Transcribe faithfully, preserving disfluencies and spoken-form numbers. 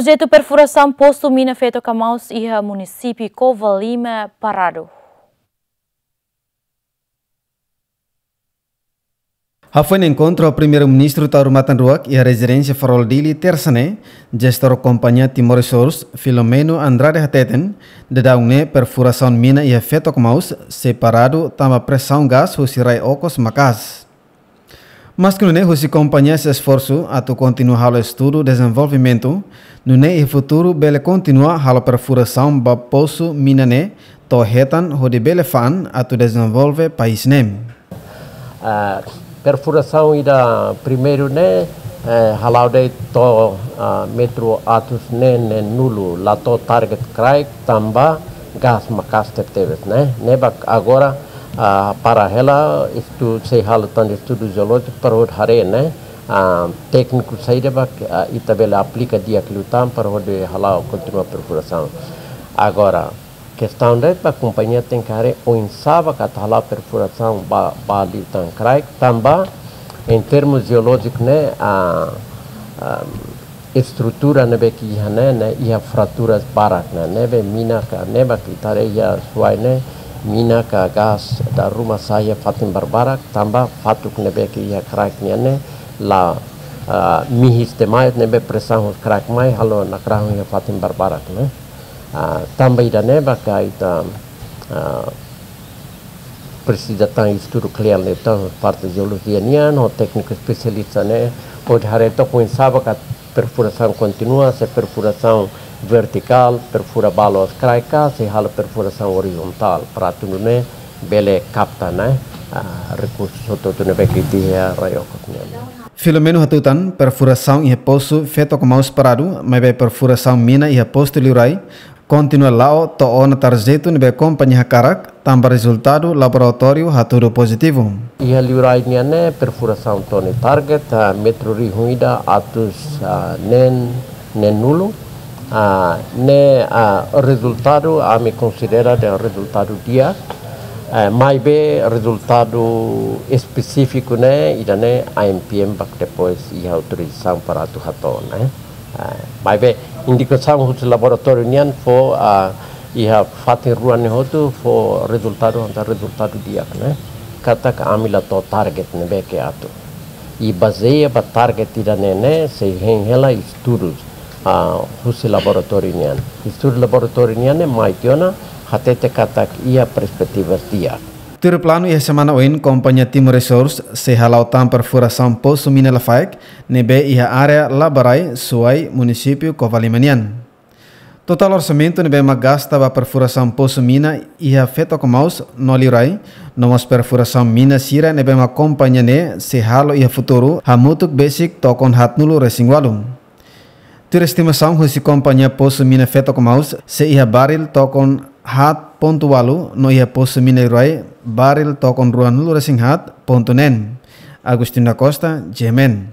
Projetu perfurasaun posu mina Feto Kamaus iha munisípiu Covalima paradu. Hafoin enkontru ho Primeiru-Ministru Taur Matan Ruak iha rezidénsia Farol Dili, Tersa ne'e, jestór kompañia Timor Resource, Filomeno Andrade hateten, daudaun ne'e perfurasaun mina iha Feto Kamaus sei paradu tanba presaun gás husi rai okos maka'as. Maski nune'e, husi kompañia sei esforsu atu kontinua halo estudu dezenvolvimentu, nune'e iha futuru bele kontinua halo perfurasaun ba posu mina ne'e to'o hetan hodi bele fa'an atu dezenvolve país ne'e. Ah, perfurasaun ida primeiru ne'e, eh, hala'o de'it to'o, ah, metru atus neen, neenulu, la to'o target kraik tanba gás maka'as tebetebes, ne'e. Ne'ebé agora, ah, para hela estu-, sei halo tan estudu jeolójiku para hodi haree, ne'e, ah, tékniku saida ba, ah, ita bele aplika di'ak liután para hodi hala'o kontinua perfurasaun. Agora, kestaun de'it ba kompañia tenke haree oinsá ba atu hala'o perfurasaun ba, ba liután kraik, tanba, em termos jeolójiku ne'e, ah, ah, estrutura ne'ebé ke iha ne'e, ne'e iha fraturas barak ne'e, ne'ebé mina ka, ne'ebé ke ita haree iha Suai ne'e, mina ka gás dala ruma sa'e iha fatin barbarak, tanba fatuk ne'ebé ke iha kraik nian ne'e la, ah, mihis demais, ne'ebé presaun husi kraik mai halo nakrahun iha fatin barbarak ne'e. Ah, tanba ida-ne'e ba ka ita, ah, presiza tan estudu kle'an liután parte jeolojia nian, ho tékniku espesialista ne'e, hodi haree took oinsá ba ka perfurasaun kontinua, se perfurasaun vertikál, perfura balu aos kraik ka, se halo perfurasaun orizontál, para atu nune'e bele kapta, ne'e, ah, rekursu hotu-hotu ne'ebé ke iha rai okos nian. Filomeno hatutan, perfurasaun iha posu Feto Kamaus paradu, maibé perfurasaun mina iha postu Liurai kontinua la'o to'o ona tarjetu ne'ebé kompañia hakarak, tanba rezultadu laboratóriu hatudu pozitivu. Iha Liurai nian ne'e perfurasaun to'o nia target, ah, metru rihun ida atus, ah, neen, neenulu. Ah, ne'e, ah, rezultadu ami konsidera dehan rezultadu di'ak. Eh, maibé rezultadu espesífiku ne'e, ida-ne'e ANPM bá depois iha autorizasaun para atu hato'o, ne'e. Ah, maibé indikasaun husi laboratóriu nian fó, ah, iha fatin rua ne'e hotu fó rezultadu, hanesan rezultadu di'ak, ne'e. Katak ami la to'o target ne'ebé ke atu. I bazeia ba target ida-ne'e ne'e, sei hein hela estudus, ah, husi laboratóriu nian. Estudu laboratóriu nian ne'e mai tiha ona, hatete katak iha perspetiva di'ak. Tuir planu iha semana oin, kompañia Timor Resource sei hala'o tan perfurasaun posu mina Lafaek, ne'ebé iha área Labarai, Suai, munisípiu Covalima nian. Totál orsamentu ne'ebé mak gasta ba perfurasaun posu mina iha Feto Kamaus no Liurai, no mós perfurasaun mina sira ne'ebé mak kompañia ne'e sei halo iha futuru, hamutuk besik tokon haatnulu resin ualu. Tuir estimasaun husi kompañia posu mina Feto Kamaus, sei iha baril tokon haat pontu ualu, no iha posu mina Liurai, baril tokon ruanulu resin haat pontu neen. Agostinho da Costa, G M N.